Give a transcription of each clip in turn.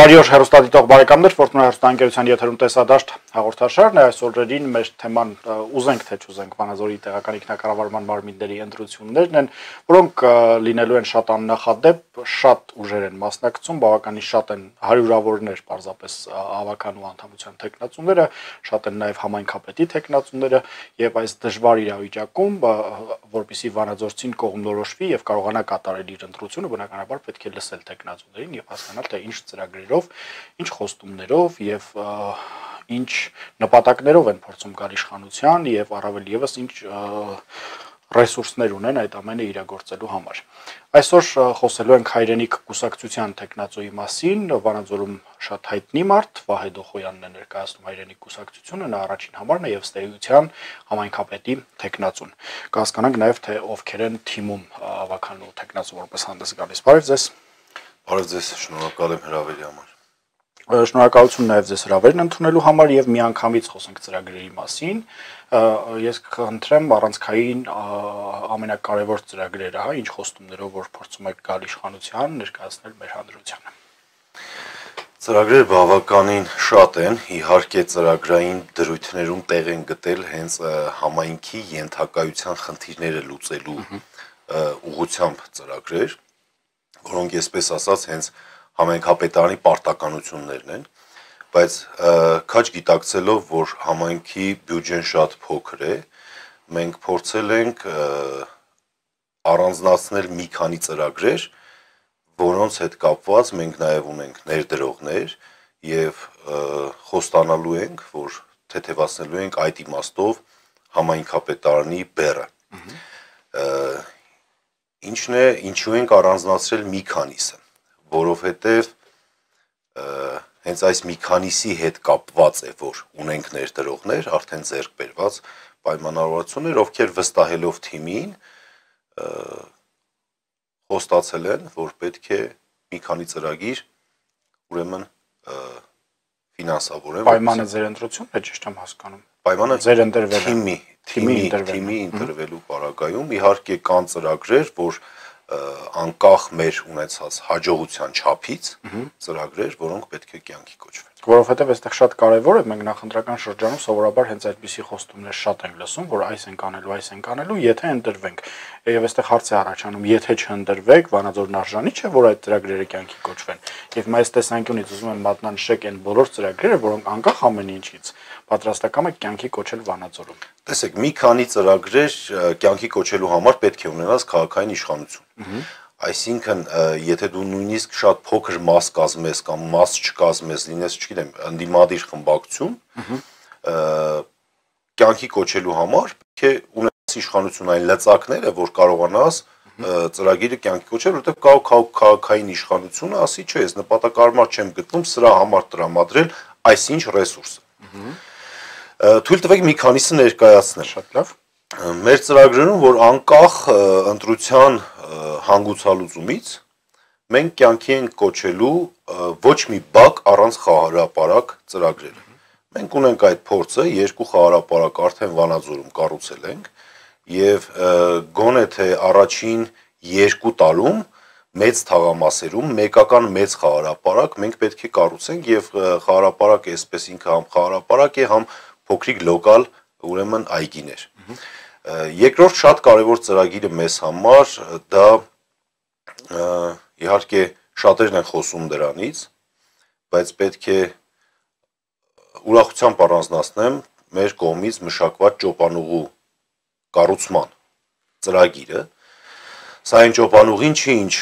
Բարի օր հեռուստադիտող բարեկամներ, Ֆորտունա հեռուստաընկերության եթերում տեսադաշտ հաղորդաշարն է։ Այս օրերին մեր թեման ուզենք թե չուզենք Վանաձորի տեղական ինքնակառավարման մարմինների ընտրություններն են, որոնք լինելու են շատ աննախադեպ, շատ ուժեր են մասնակցում, բավականին շատ են հարյուրավորներ պարզապես ավականու անդամության թեկնածուները, շատ են նաև համայնքապետի թեկնածուները, եւ այս դժվար իրավիճակում, որպեսզի վանաձորցին կողմնորոշվի եւ կարողանա կատարել իր ընտրությունը, բնականաբար պետք է լսել թեկնածուներին եւ հասկանալ թե ինչ ծրագրերով, ինչ խոստումներով եւ ինչ նպատակներով են փորձում գալ իշխանության եւ առավել եւս ինչ ռեսուրսներ ունեն այդ ամենը իրագործելու համար։ Այսօր խոսելու ենք Հայրենիք կուսակցության տեխնացուի մասին, Վանաձորում շատ հայտնի մարդ, Վահե Դոխոյանն է ներկայացնում Հայրենիք կուսակցությունը, նա առաջին համարն է եւ ստեյության համայնքապետի տեխնացուն։ Կհասկանանք նաեւ թե ովքեր են թիմում ավականու տեխնացու որպես հանդես գալիս։ Բարև ձեզ։ Բարև ձեզ, շնորհակալ եմ հրավերի համար։ Շնորհակալություն նաև ձեզ հրավերն ընդունելու համար եւ միանգամից խոսենք ծրագրերի մասին։ Ես կխնդրեմ առանցքային ամենակարևոր ծրագրերը, ինչ խոստումներով որ փորձում եք գալ իշխանության, ներկայացնել մեր հանրությանը։ Ծրագրերը բավականին շատ են, իհարկե ծրագրային դրույթներում տեղ են գտել հենց համայնքի ենթակայության խնդիրները լուծելու ուղղությամբ ծրագրեր, որոնք այսպես ասած հենց համայնքապետարանի պարտականություններն են, բայց քաչ գիտակցելով, որ համայնքի բյուջեն շատ փոքր է, մենք փորձել ենք առանձնացնել մի քանի ծրագրեր, որոնց հետ կապված մենք նաև ունենք ներդրողներ եւ խոստանալու ենք, որ թեթևացնելու ենք այդ իմաստով համայնքապետարանի բեռը։ Ինչու ենք առանձնացրել մի քանիսը, որովհետև հենց այս մի քանիսի հետ կապված է, որ ունենք ներդրողներ, արդեն ձեռք բերված պայմանավորվածություններ, ովքեր վստահելով թիմին խոստացել են, որ պետք է մի քանի ծրագիր ուրեմն ֆինանսավորեն։ Պայմանը ձեր ընտրությունն է, ճիշտ եմ հասկանում։ Պայմանը ձեր ընտրվելը թիմի ընտրվելու պարագայում իհարկե կան ծրագրեր, որ անկախ մեր ունեցած հաջողության չափից ծրագրեր, որոնք պետք է կյանքի կոչվեն։ Որովհետև այստեղ շատ կարևոր է, մենք նախընտրական շրջանում սովորաբար հենց այդպիսի խոստումներ շատ ենք լսում, որ այս ենք անելու, եթե ընտրվենք։ Եվ այստեղ հարց է առաջանում, եթե չընտրվեք, Վանաձորն արժանի չէ, որ այդ ծրագրերը կյանքի կոչվեն։ Եվ այս տեսանկյունից ուզում եմ մատնանշեք այն բոլոր ծրագրերը, որոնք անկախ ամեն ինչից պատրաստական եք կյանքի կոչել Վանաձորում։ Տեսեք, մի քանի ծրագրեր կյանքի կոչելու համար պետք է ունենաս քաղաքային իշխանություն։ Այսինքն, եթե դու նույնիսկ շատ փոքր մաս կազմես կամ մաս չկազմես, լինես, չգիտեմ, ընդդիմադիր խմբակցություն, կյանքի կոչելու համար պետք է ունենաս իշխանություն այն լծակները, որ կարողանաս ծրագիրը կյանքի կոչել, որովհետև քաղաքային իշխանությունը ասի, չէ, ես նպատակարար չեմ գտնում սրա համար տրամադրել այսինչ ռեսուրսը։ Թույլ տվեք մի քանիսը ներկայացնել։ Շատ լավ։ Մեր ծրագրերում, որ անկախ ընտրության հանգուցալուծումից մենք կյանքի ենք կոչելու ոչ մի բակ առանց խաղահրապարակ ծրագրերը։ Մենք ունենք այդ փորձը, 2 խաղահրապարակ արդեն Վանաձորում կառուցել ենք եւ գոնե թե առաջին 2 տարում մեծ թաղամասերում մեկական մեծ խաղահրապարակ մենք պետք է կառուցենք եւ խաղահրապարակը այսպես ինքը համ խաղահրապարակ է, համ փոքրիկ լոկալ ուրեմն այգիներ։ Երկրորդ շատ կարևոր ծրագիրը մեզ համար դա իհարկե շատերն են խոսում դրանից, բայց պետք է ուրախությամբ առանձնացնեմ մեր կողմից մշակված ճոպանուղու կառուցման ծրագիրը։ Սա այն ճոպանուղին չի, ինչ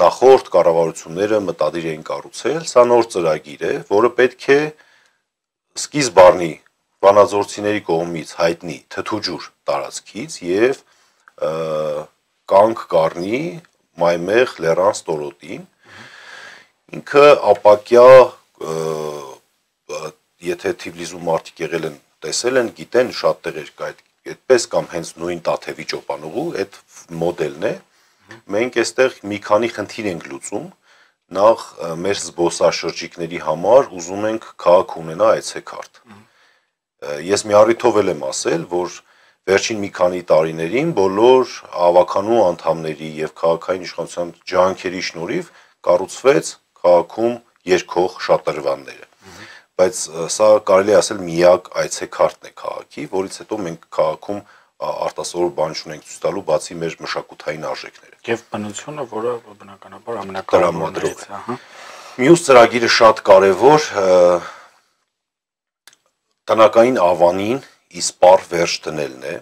նախորդ կառավարությունները մտադիր էին կառուցել, սա նոր ծրագիր է, որը պետք է սկիզբ առնի վանաձորցիների կողմից հայտնի թթուջուր տարածքից եւ կանգ կառնի Մայմեղ լեռան ստորոտին։ Ինքը ապակյա, եթե Թիֆլիսում մարդիկ եղել են, տեսել են, գիտեն, շատ տեղեր կա այդպես կամ հենց նույն Տաթևի ճոպանուղու, այդ մոդելն է։ Մենք այստեղ մի քանի խնդիր ենք լուծում։ Նախ մեր զբոսաշրջիկների համար ուզում ենք քաղաք ունենա այցեքարտ։ Ես մի առիթով եմ ասել, որ վերջին մի քանի տարիներին բոլոր ավականու անդամների եւ քաղաքային իշխանության ջանքերի շնորհիվ կառուցվեց քաղաքում երկող շատրվանները։ Բայց սա կարելի ասել միակ այցեքարտն է քաղաքի, որից հետո մենք քաղաքում արտասովոր բան չունենք ցույց տալու, բացի մեր մշակութային արժեքները։ Եվ բնությունը, որը բնականաբար ամենակարևորն է, Մյուս ծրագիրը շատ կարևոր տնական ավանին իսպառ վերջ դնելն է։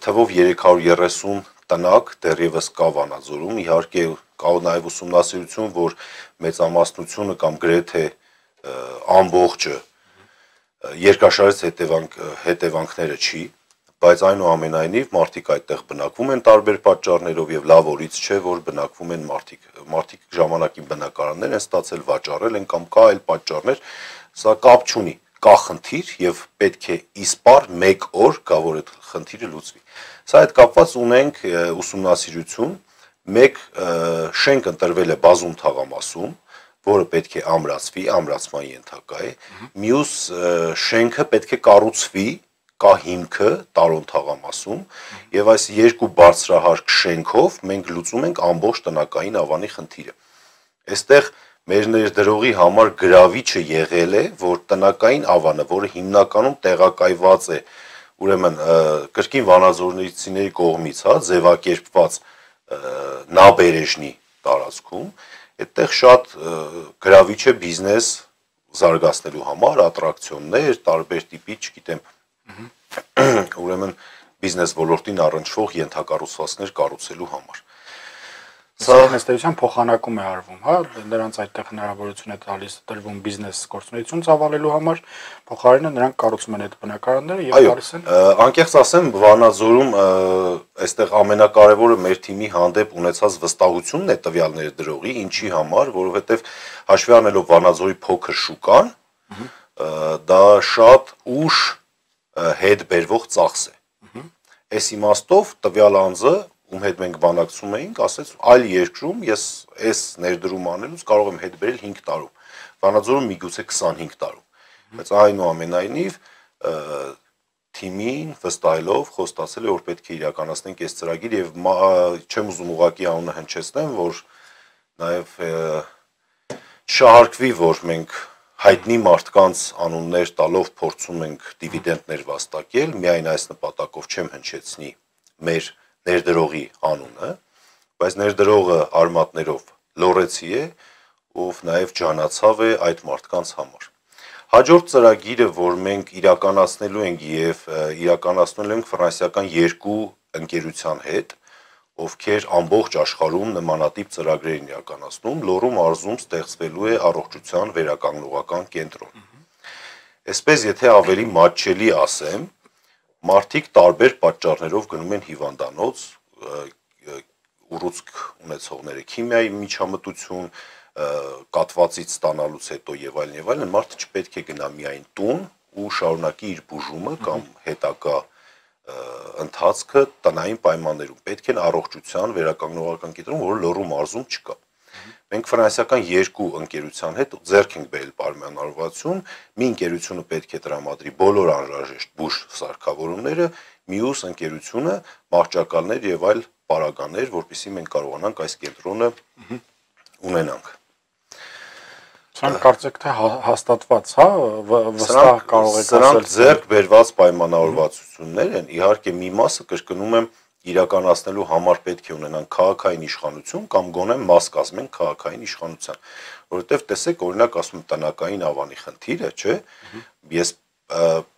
Թվով 330 տնակ դեռևս կա Վանաձորում, իհարկե կա նաև ուսումնասիրություն, որ մեծամասնությունը կամ գրեթե ամբողջը երկրաշարժ հետևանքները չի, բայց այնուամենայնիվ մարդիկ այդտեղ բնակվում են տարբեր պատճառներով եւ լավ օրից չէ, որ բնակվում են մարդիկ ժամանակին բնակարաններ են ստացել, վաճառել են կամ կա այլ պատճառներ, սա կապ չունի, կա խնդիր եւ պետք է իսպառ 1 օր գա որ այդ խնդիրը լուծվի։ Սա հետ կապված ունենք ուսումնասիրություն, մեկ շենք ընտրվել է Բազում թաղամասում, որը պետք է ամրացվի, ամրացման ենթակա է, մյուս շենքը պետք է կառուցվի, կա հիմքը Տարոն թաղամասում, եւ այս երկու բարձրահարկ շենքով մենք լուծում ենք ամբողջ տնական ավանի խնդիրը։ Այստեղ մեր ներդրողի համար գրավիչը եղել է, որ տնական ավանը, որը հիմնականում տեղակայված է, ուրեմն կրկին վանաձորցիների կողմից, ձևակերպված նաբերեժնի տարածքում, այդտեղ շատ գրավիչ է բիզնես զարգացնելու համար, ատրակցիոններ, տարբեր տիպի, չգիտեմ, ուրեմն բիզնես ոլորտին առնչվող ենթակառուցվածքներ կառուցելու համար։ Սա ըստեյության փոխանակում է արվում, նրանց այդտեղ հնարավորություն է տալիս տրվում բիզնես գործունեություն ծավալելու համար, փոխարենը նրանք կառուցում են այդ բնակարանները եւ տալիս են։ Անկեղծ ասեմ, Վանաձորում այստեղ ամենակարևորը մեր թիմի հանդեպ ունեցած վստահությունն է տվյալ ներդրողի, ինչի համար, որովհետեւ հաշվի առնելով Վանաձորի փոքր շուկան, դա շատ ուշ հետ բերվող ծախս է։ Այս իմաստով տվյալ անձը, ում հետ մենք բանակցում էինք, ասեց այլ երկրում ես այս ներդրում անելուց կարող եմ հետ բերել 5 տարում, Վանաձորում միգուցե 25 տարում, բայց այնուամենայնիվ թիմին վստահելով խոստացել է, որ պետք է իրականացնենք այս ծրագիր եւ չեմ ուզում ուղղակի անունը հնչեցնեմ, որ նաեւ շահարկվի, որ մենք հայտնի մարդկանց անուններ տալով փորձում ենք դիվիդենդներ վաստակել, միայն այս նպատակով չեմ հնչեցնի մեր ներդրողի անունը, բայց ներդրողը արմատներով լոռեցի է, ով նաև ջանացավ է այդ մարդկանց համար։ Հաջորդ ծրագիրը, որ մենք իրականացնելու ենք եւ իրականացնելու ենք ֆրանսիական 2 ընկերության հետ, ովքեր ամբողջ աշխարհում նմանատիպ ծրագրեր են իրականացնում, Լոռու մարզում ստեղծվելու է առողջության վերականգնողական կենտրոն։ Այսպես, եթե ավելի մատչելի ասեմ, մարդիկ տարբեր պատճառներով գնում են հիվանդանոց, ուռուցք ունեցողները քիմիայի միջամտություն, կատվածից ստանալուց հետո եւ այլն, մարդը չպետք է գնա միայն տուն ու շարունակի իր բուժումը կամ հետագա ընթացքը տնային պայմաններում, պետք է առողջության վերականգնողական կենտրոն, որը Լոռու մարզում չկա։ Մենք ֆրանսիական 2 ընկերության հետ ձեռք ենք բերել պայմանավորվածություն, մի ընկերությունը պետք է տրամադրի բոլոր անհրաժեշտ բուժ սարքավորումները, մյուս ընկերությունը մահճակալներ եւ այլ պարագաներ, որպեսզի մենք կարողանանք այս կենտրոնը ունենանք։ Սրանք կարծեք թե հաստատված, վստահ կարող եք ասել։ Սրանք ձեռք բերված պայմանավորվածություններ են, իհարկե մի մասը կրկնում եմ իրականացնելու համար պետք է ունենան քաղաքային իշխանություն կամ գոնե մաս կազմեն քաղաքային իշխանության, որովհետև տեսեք, օրինակ ասում տնական ավանի խնդիրը, չէ՞, ես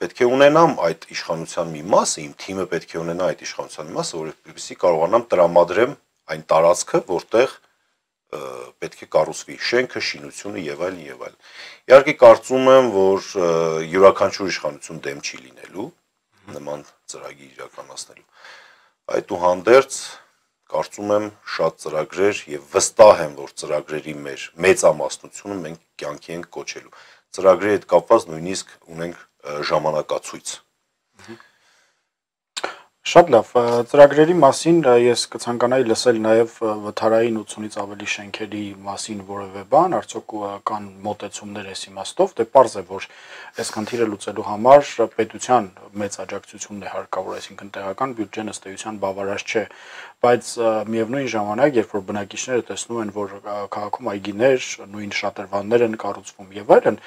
պետք է ունենամ այդ իշխանության մի մասը, իմ թիմը պետք է ունենա այդ իշխանության մի մասը, որպեսզի կարողանամ տրամադրեմ այն տարածքը, որտեղ պետք է կառուցվի շենքը, շինությունը եւ այլն եւ այլն։ Իհարկե կարծում եմ, որ յուրաքանչյուր իշխանություն դեմ չի լինելու նման ծրագիր իրականացնելու։ Այդուհանդերձ կարծում եմ շատ ծրագրեր եւ վստահ եմ, որ ծրագրերի մեր մեծամասնությունը մենք կյանքի ենք կոչելու։ Ծրագրերի հետ կապված նույնիսկ ունենք ժամանակացույց։ Շատ լավ, ծրագրերի մասին ես կցանկանայի լսել նաև վթարային 80-ից ավելի շենքերի մասին որևէ բան, արդյոք կան մոտեցումներ այս իմաստով, դե պարզ է, որ այս խնդիրը լուծելու համար պետության մեծ աջակցությունն է հարկավոր, այսինքն տեղական բյուջեն ըստ էության բավարար չէ, բայց միևնույն ժամանակ, երբ որ բնակիչները տեսնում են, որ քաղաքում այգիներ, նույն շատրվաններ են կառուցվում եւ այլն,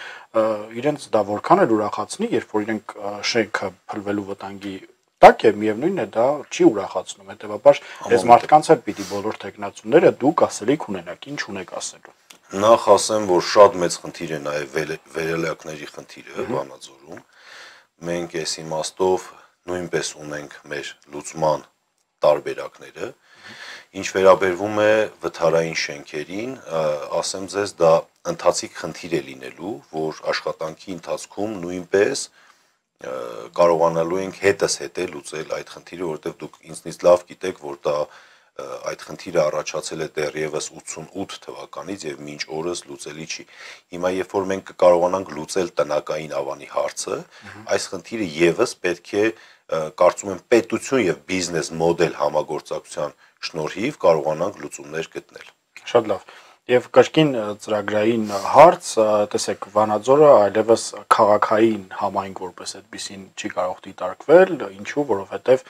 իրենց դա որքան էլ ուրախացնի, երբ որ իրենք շենքը փլվելու վտանգի տակ է, միևնույնն է դա չի ուրախացնում, հետևաբար այս մարդկանց հետ պիտի բոլոր տեխնացուները դուք ասելիք ունենաք, ինչ ունեք ասելու։ Նախ ասեմ, որ շատ մեծ խնդիր է նաև վերելակների խնդիրը Վանաձորում։ Մենք այս իմաստով նույնպես ունենք մեր լուծման տարբերակները։ Ինչ վերաբերվում է վթարային շենքերին, ասեմ ձեզ, դա ընթացիկ խնդիր է լինելու, որ աշխատանքի ընթացքում նույնպես կարողանալու ենք հետս հետե լուծել այդ խնդիրը, որովհետև դուք ինձնից լավ գիտեք, որ դա այդ խնդիրը առաջացել է դեռևս 88 թվականից եւ մինչ օրս լուծելի չի։ Հիմա երբ որ մենք կկարողանանք լուծել տնակային ավանի հարցը, այս խնդիրը եւս պետք է կարծում եմ պետություն եւ բիզնես մոդել համագործակցության շնորհիվ կարողանանք լուծումներ գտնել։ Շատ լավ։ Եվ կրկին ծրագրային հարց, տեսեք, Վանաձորը այլևս քաղաքային համայնք որպես այդպեսին չի կարող դիտարկվել, ինչու, որովհետև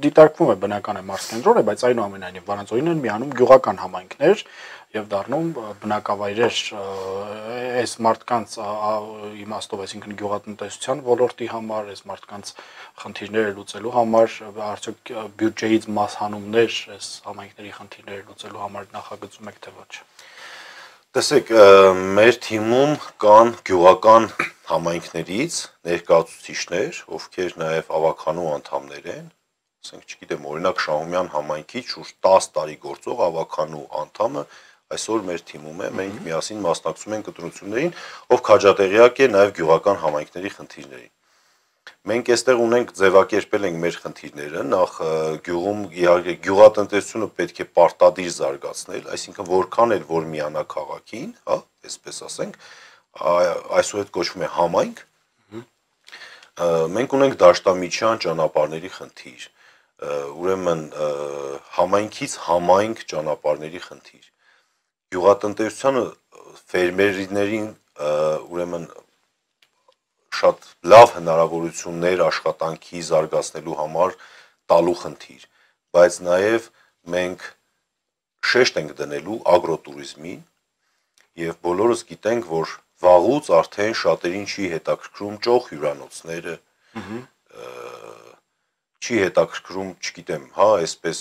դիտարկվում է բնական է մարզկենտրոն է, բայց այնուամենայնիվ Վանաձորին են միանում գյուղական համայնքներ եւ դառնում բնակավայրեր այս մարդկանց իմաստով, այսինքն գյուղատնտեսության ոլորտի համար, այս մարդկանց խնդիրները լուծելու համար, արդյոք բյուջեից մաս հանումներ այս համայնքների խնդիրները լուծելու համար նախագծում եք թե ոչ։ Տեսեք, մեր թիմում կան գյուղական համայնքներից ներկայացուցիչներ, ովքեր նաև ավականու անդամներ են, ասենք, չգիտեմ, օրինակ Շահումյան համայնքի շուրջ 10 տարի գործող ավականու անդամը այսօր մեր թիմում է, մենք միասին մասնակցում ենք ընտրություններին, ով քաջատեղյակ է նաև գյուղական համայնքների խնդիրներին։ Մենք այստեղ ունենք ձևակերպել ենք մեր խնդիրները, նախ գյուղում իհարկե գյուղատնտեսությունը պետք է պարտադիր զարգացնել, այսինքն որքան էլ որ միանա քաղաքին, հա, այսպես ասենք, այսուհետ կոչվում է համայնք։ Մենք ունենք դաշտամիջյան ճանապարհների խնդիր, ուրեմն համայնքից համայնք ճանապարհների խնդիր։ Գյուղատնտեսությանը ֆերմերներին ուրեմն շատ լավ հնարավորություններ աշխատանքի զարգացնելու համար տալու խնդիր, բայց նաև մենք շեշտ ենք դնելու ագրոտուրիզմին եւ բոլորս գիտենք, որ վաղուց արդեն շատերին չի հետաքրքրում ճոխ հյուրանոցները, չի հետաքրքրում, չգիտեմ, հա, այսպես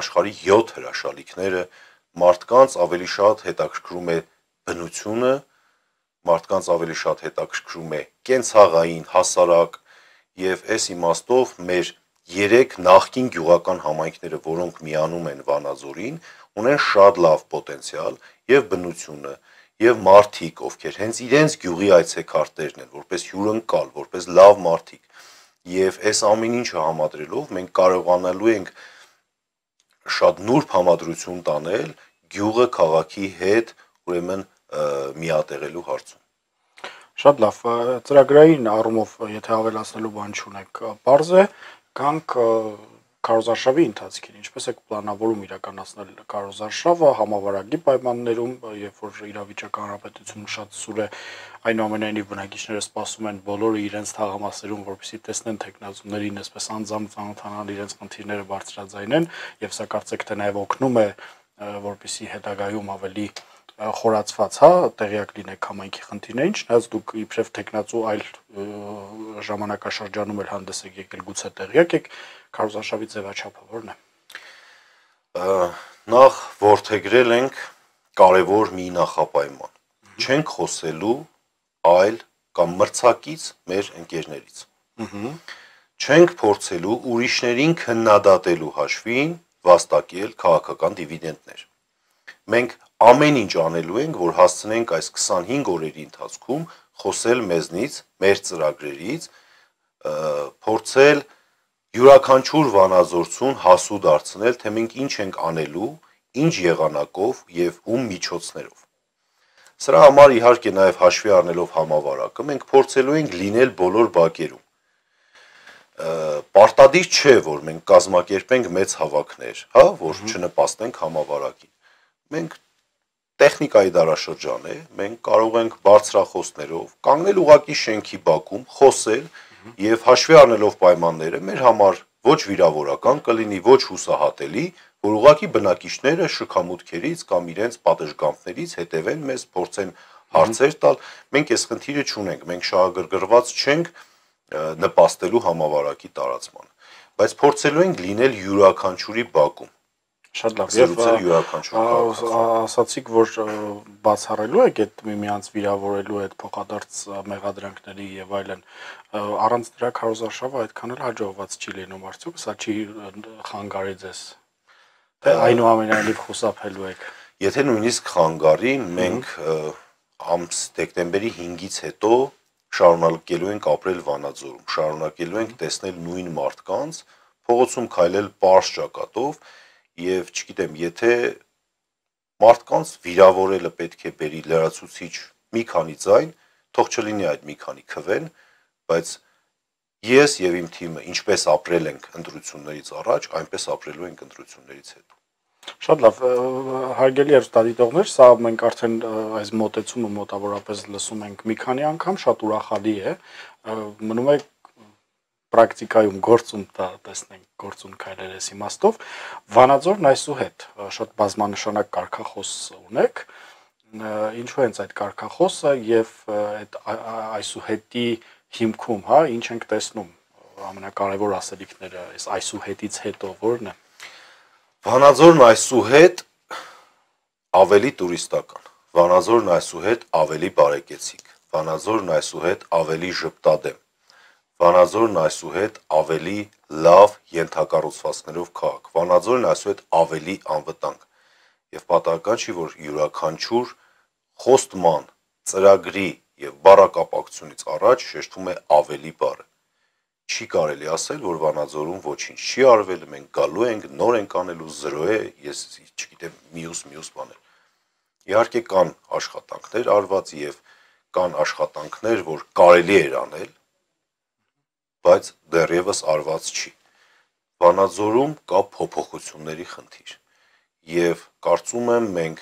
աշխարհի 7 հրաշալիքները, մարդկանց ավելի շատ հետաքրքրում է բնությունը, մարդկանց ավելի շատ հետաքրքրում է կենցաղային, հասարակ եւ այս իմաստով մեր 3 նախկին գյուղական համայնքները, որոնք միանում են Վանաձորին, ունեն շատ լավ պոտենցիալ եւ բնությունը եւ մարդիկ, ովքեր հենց իրենց գյուղի այցեքարտերն են, որպես հյուրընկալ, որպես լավ մարդիկ եւ այս ամեն ինչը համադրելով մենք կարողանալու ենք շատ նուրբ համադրություն տանել գյուղը քաղաքի հետ, ուրեմն միատեղելու հարցում։ Շատ լավ, ծրագրային առումով, եթե ավելացնելու բան չունեք, պարզ է, կանք քարոզարշավի ընթացքին, ինչպես եք պլանավորում իրականացնել քարոզարշավը համավարակի պայմաններում, երբ որ իրավիճակը հանրապետությունում շատ սուր է, այնուամենայնիվ բնակիչները սպասում են բոլորը իրենց թաղամասերում, որպեսզի տեսնեն տեխնացուներին, այսպես անձամբ ծանոթանալ իրենց խնդիրները բարձրաձայնեն, եւ սա կարծեք թե նաեւ օգնում է, որպեսզի հետագայում ավելի խորացված, հա, տեղյակ լինեք համայնքի խնդիրներին, չնայած դուք իբրև տեխնացու այլ ժամանակաշրջանում էլ հանդես եք եկել, գուցե տեղյակ եք, քարոզարշավի ձևաչափը որն է։ Նախ որդեգրել ենք կարևոր մի նախապայման։ Չենք խոսելու այլ կամ մրցակից մեր ընկերներից։ Չենք փորձելու ուրիշներին քննադատելու հաշվին վաստակել քաղաքական դիվիդենդներ։ Մենք ամեն ինչ անելու ենք, որ հասցնենք այս 25 օրերի ընթացքում խոսել մեզնից, մեր ծրագրերից, փորձել յուրաքանչյուր վանաձորցուն հասու դարձնել, թե մենք ինչ ենք անելու, ինչ եղանակով եւ ում միջոցներով։ Սրա համար իհարկե նաև հաշվի առնելով համավարակը, մենք փորձելու ենք լինել բոլոր բակերում։ Պարտադիր չէ, որ մենք կազմակերպենք մեծ հավաքներ, հա, որ չնպաստենք համավարակին։ Մենք տեխնիկայի դարաշրջան է, մենք կարող ենք բարձրախոսներով կանգնել ուղակի շենքի բակում, խոսել եւ հաշվի առնելով պայմանները մեր համար ոչ վիրավորական կլինի, ոչ հուսահատելի, որ ուղակի բնակիչները շքամուտքերից կամ իրենց պատժգամբներից հետևեն մեզ, փորձեն հարցեր տալ, մենք այս խնդիրը չունենք, մենք շահագրգռված չենք նպաստելու համավարակի տարածմանը, բայց փորձելու ենք լինել յուրաքանչյուրի բակում։ Շատ լավ, եւ ասացիք, որ բացառելու եք այդ միմյանց վիրավորելու այդ փոխադարձ մեղադրանքների եւ այլն, առանց դրա քարոզարշավը այդքան էլ հաջողված չի լինում, արդյոք սա չի խանգարի ձեզ, թե այնուամենայնիվ խուսափելու եք։ Եթե նույնիսկ խանգարի, մենք դեկտեմբերի 5-ից հետո շարունակելու ենք ապրել Վանաձորում, շարունակելու ենք տեսնել նույն մարդկանց, փողոցում քայլել պարզ ճակատով եւ չգիտեմ, եթե մարդկանց վիրավորելը պետք է բերի լրացուցիչ մի քանի ձայն, թող չլինի այդ մի քանի քվեն, բայց ես եւ իմ թիմը ինչպես ապրել ենք ընտրություններից առաջ, այնպես ապրելու ենք ընտրություններից հետո։ Շատ լավ, հարգելի հեռուստադիտողներ, սա մենք արդեն այս մոտեցումը մոտավորապես լսում ենք մի քանի անգամ, շատ ուրախալի է, մնում է պրակտիկայում գործում տեսնենք գործուն քայլեր այս իմաստով, Վանաձորն այսուհետ շատ բազմանշանակ կարգախոս ունեք, ինչու հենց այդ կարգախոսը եւ այդ այսուհետի հիմքում, հա, ինչ ենք տեսնում, ամենակարևոր ասելիքները այս այսուհետից հետո որն է։ Վանաձորն այսուհետ ավելի տուրիստական, Վանաձորն այսուհետ ավելի բարեկեցիկ, Վանաձորն այսուհետ ավելի ժպտադեմ, Վանաձորն այսուհետ ավելի լավ ենթակառուցվածքներով քաղաք, Վանաձորն այսուհետ ավելի անվտանգ եւ պատահական չի, որ յուրաքանչյուր խոստման, ծրագրի եւ բառակապակցությունից առաջ շեշտվում է ավելի բառը։ Չի կարելի ասել, որ Վանաձորում ոչինչ չի արվել, մենք գալու ենք, նոր ենք անելու, զրո է, ես չգիտեմ, մյուս բաներ։ Իհարկե կան աշխատանքներ արված եւ կան աշխատանքներ, որ կարելի էր անել, բայց դեռևս արված չի։ Վանաձորում կա փոփոխությունների խնդիր եւ կարծում եմ մենք,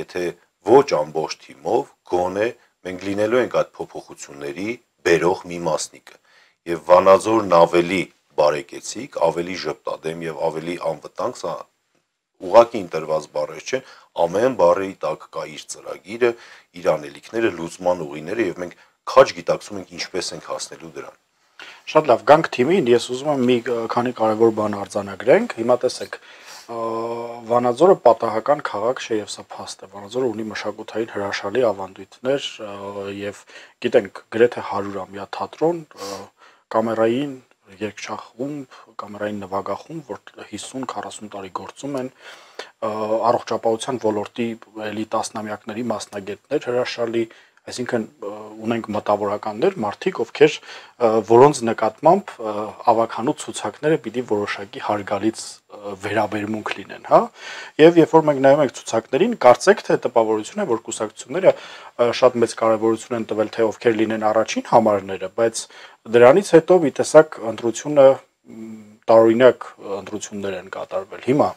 եթե ոչ ամբողջ թիմով, գոնե մենք լինելու ենք այդ փոփոխությունների բերող մի մասնիկը եւ Վանաձորն ավելի բարեկեցիկ, ավելի ժպտադեմ եւ ավելի անվտանգ, սա ուղղակի ընտրված բառեր չեն, ամեն բառի տակ կա իր ծրագիրը, իր անելիքները, լուծման ուղիները եւ մենք քաջ գիտակցում ենք ինչպես ենք հասնելու դրան։ Շատ լավ, գանք թիմին, ես ուզում եմ մի քանի կարևոր բան արձանագրենք։ Հիմա տեսեք, Վանաձորը պատահական քաղաք չէ եւ սա փաստ է։ Վանաձորը ունի մշակութային հրաշալի ավանդույթներ եւ գիտենք գրեթե 100-ամյա թատրոն, կամերային երգչախումբ, կամերային նվագախումբ, որ 50-40 տարի գործում են, առողջապահության ոլորտի էլի տասնամյակների մասնագետներ հրաշալի, այսինքն ունենք մտավորականներ, մարդիկ, ովքեր որոնց նկատմամբ ավականու ցուցակները պիտի որոշակի հարգալից վերաբերմունք լինեն, հա։ Եվ երբ որ մենք նայում ենք ցուցակներին, կարծեք թե տպավորություն է, որ կուսակցությունները շատ մեծ կարևորություն են տվել, թե ովքեր լինեն առաջին համարները, բայց դրանից հետո մի տեսակ ընտրությունը տարօրինակ ընտրություններ են կատարվել։ Հիմա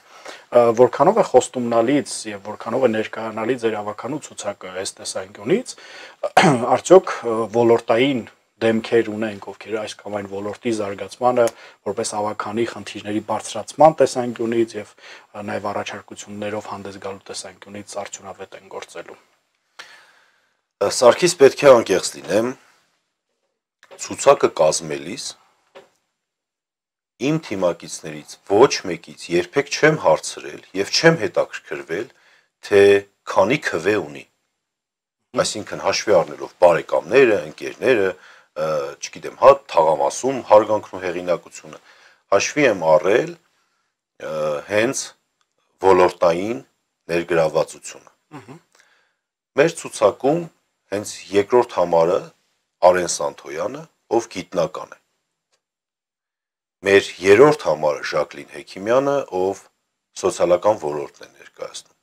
որքանով է խոստումնալից եւ որքանով է ներկայանալի ձեր ավականու ցուցակը այս տեսանկյունից, արդյոք ոլորտային դեմքեր ունենք, ովքեր այս կամ այն ոլորտի զարգացմանը որպես ավականի խնդիրների բարձրացման տեսանկյունից եւ նաեւ առաջարկություններով հանդես գալու տեսանկյունից արդյունավետ են գործելու։ Սարգիս պետք է անկեղծ լինեմ, ցուցակը կազմելիս իմ թիմակիցներից ոչ մեկից երբեք չեմ հարցրել եւ չեմ հետաքրքրվել, թե քանի քվե ունի։ Այսինքն հաշվի առնելով բարեկամները, ընկերները, չգիտեմ, հա, թաղամասում հարգանքն ու հեղինակությունը, հաշվի եմ առել հենց ոլորտային ներգրավվածությունը։ Մեր ցուցակում հենց երկրորդ համարը Արեն Սանթոյանը, ով գիտնական է։ Մեր երրորդ համարը Ժակլին Հեքիմյանը, ով սոցիալական ոլորտն է ներկայացնում։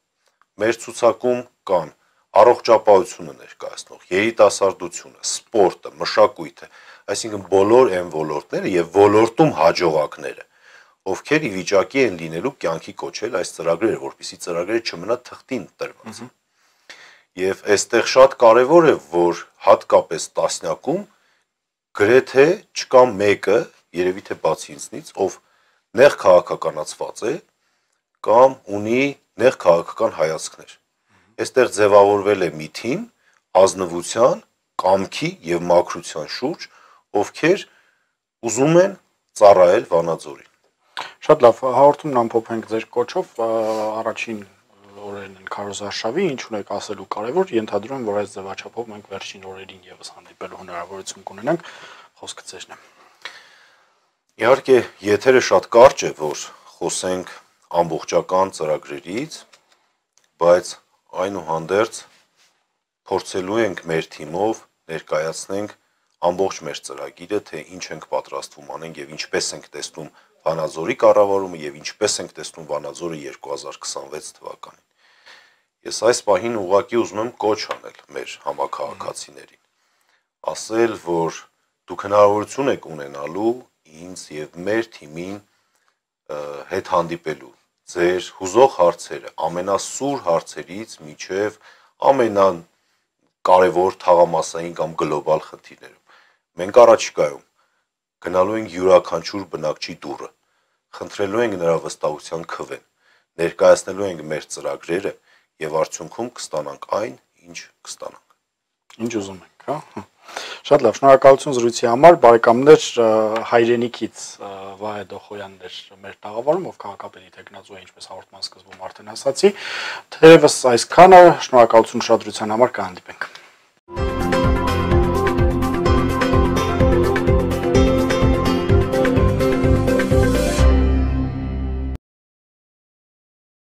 Մեր ցուցակում կան առողջապահությունը ներկայացնող, երիտասարդությունը, սպորտը, մշակույթը, այսինքն բոլոր այն ոլորտները եւ ոլորտում հաջողակները, ովքեր ի վիճակի են լինելու կյանքի կոչել այս ծրագրերը, որպեսզի ծրագրերը չմնա թղթին տրված։ Եվ այստեղ շատ կարևոր է, որ հատկապես տասնյակում գրեթե չկա մեկը, երևի թե բացի ինձնից, ով նեղ քաղաքականացված է կամ ունի նեղ քաղաքական հայացքներ։ Այստեղ ձևավորվել է մի թիմ ազնվության, կամքի եւ մաքրության շուրջ, ովքեր ուզում են ծառայել Վանաձորին։ Շատ լավ, հաղորդումն ամփոփենք ձեր կոչով, առաջին օրերն են քարոզարշավի, ինչ ունեք ասելու կարևոր, ենթադրում եմ, որ այս ձևաչափով մենք վերջին օրերին եւս հանդիպելու հնարավորություն կունենանք, խոսքը ձերն է։ Իհարկե, եթերը շատ կարճ է, որ խոսենք ամբողջական ծրագրերից, բայց այնուհանդերձ փորձելու ենք մեր թիմով ներկայացնենք ամբողջ մեր ծրագիրը, թե ինչ ենք պատրաստվում անենք եւ ինչպես ենք տեսնում Վանաձորի կառավարումը եւ ինչպես ենք տեսնում Վանաձորը 2026 թվականին։ Ես այս պահին ուղղակի ուզում եմ կոչ անել մեր համաքաղաքացիներին, ասել, որ դուք հնարավորություն եք ունենալու ինձ եւ մեր թիմին հետ հանդիպելու ձեր հուզող հարցերը, ամենասուր հարցերից միջև ամենակարևոր թաղամասային կամ գլոբալ խնդիրներում։ Մենք առաջիկայում գնալու ենք յուրաքանչյուր բնակչի դուռը, խնդրելու ենք նրա վստահության քվեն, ներկայացնելու ենք մեր ծրագրերը եւ արդյունքում կստանանք այն, ինչ կստանանք։ Ինչ ուզում ենք, հա։ Շատ լավ, շնորհակալություն զրույցի համար, բարեկամներ, հայրենիքից Վահե Դոխոյանն էր մեր տաղավարում, ով քաղաքապետի տեխնազու է, ինչպես հաղորդման սկզբում արդեն ասացի, թերևս այսքանը, շնորհակալություն ուշադրության համար, կհանդիպենք։